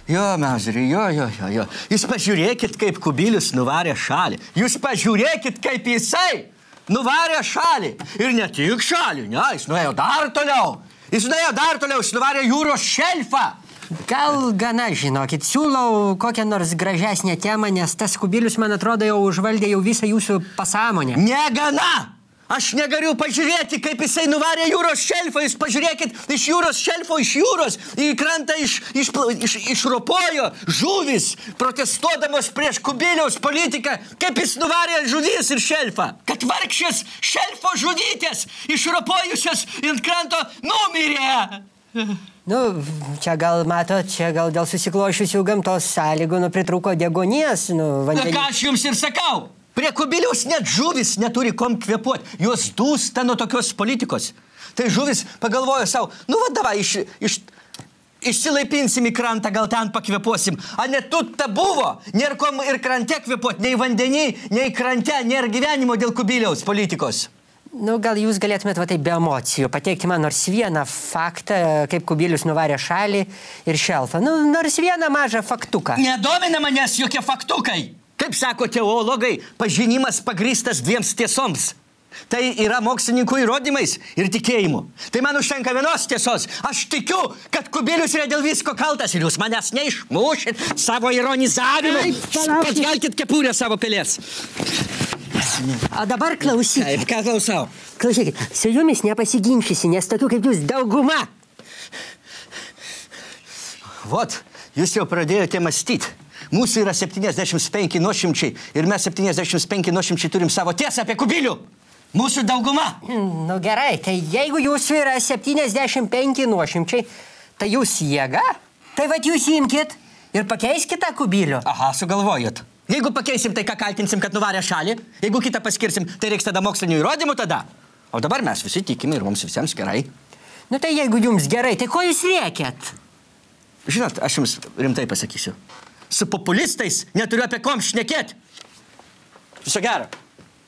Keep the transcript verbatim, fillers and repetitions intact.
Jo, Mauzeri, jo, jo, jo, jo. Jūs pažiūrėkit, kaip Kubilius nuvarė šalį. Jūs pažiūrėkit, kaip jisai nuvarė šalį. Ir ne tik šalį, ne, jis nuėjo dar toliau. Jis nuėjo dar toliau, jis nuvarė jūros šelfą. Gal gana, žinokit, siūlau kokią nors gražesnę temą, nes tas Kubilius, man atrodo, jau užvaldė jau visą jūsų pasąmonę. Negana! Aš negaliu pažiūrėti, kaip jisai nuvarė jūros šelfą. Jūs pažiūrėkit, iš jūros šelfo, iš jūros, į krantą iš, iš, iš, išropojo žuvis, protestuodamos prieš Kubiliaus politiką, kaip jis nuvarė žuvis ir šelfą. Kad vargšės šelfo žudytės, išropojusios ant kranto, numirė. Nu, čia gal, matot, čia gal dėl susiklošiusių gamtos sąlygų, nu, pritrūko deguonies, nu, vandenį. Ką aš jums ir sakau? Prie Kubiliaus net žuvis neturi kom kvėpuoti. Jos dūsta nuo tokios politikos. Tai žuvis pagalvojo savo, nu va, davai, iš, iš, išsilaipinsim į krantą, gal ten pakvėpuosim. A net tu ta buvo, nėra kom ir krante kvėpuoti, nei vandenį, nei krante, nėra gyvenimo dėl Kubiliaus politikos. Nu, gal jūs galėtumėt va taip be emocijų pateikti man nors vieną faktą, kaip Kubilius nuvarė šalį ir šelfą. Nu, nors vieną mažą faktuką. Nedomina manęs jokie faktukai. Kaip sako teologai, pažinimas pagrįstas dviems tiesoms. Tai yra mokslininkų įrodymais ir tikėjimu. Tai man užtenka vienos tiesos. Aš tikiu, kad Kubilius yra dėl visko kaltas ir jūs manęs neišmušit savo ironizavimu. Pakelkit kepurę savo pelės. O dabar klausykit. Taip, ką klausau? Klausykit, su jumis nepasiginčysi, nes tokių kaip jūs dauguma. Vot, jūs jau pradėjote mąstyti. Mūsų yra septyniasdešimt penki nuošimčiai ir mes septyniasdešimt penki nuošimčiai turim savo tiesą apie Kubilių. Mūsų dauguma. Nu gerai, tai jeigu jūsų yra septyniasdešimt penki nuošimčiai, tai jūs jėga? Tai vat jūs imkit ir pakeiskit tą Kubilių. Aha, sugalvojot. Jeigu pakeisim, tai ką kaltinsim, kad nuvarė šalį? Jeigu kitą paskirsim, tai reiks tada mokslinių įrodymų tada. O dabar mes visi tikime ir mums visiems gerai. Nu tai jeigu jums gerai, tai ko jūs rėkėt? Žinot, aš jums rimtai pasakysiu. Su populistais neturiu apie kom šnekėti. Viso gero.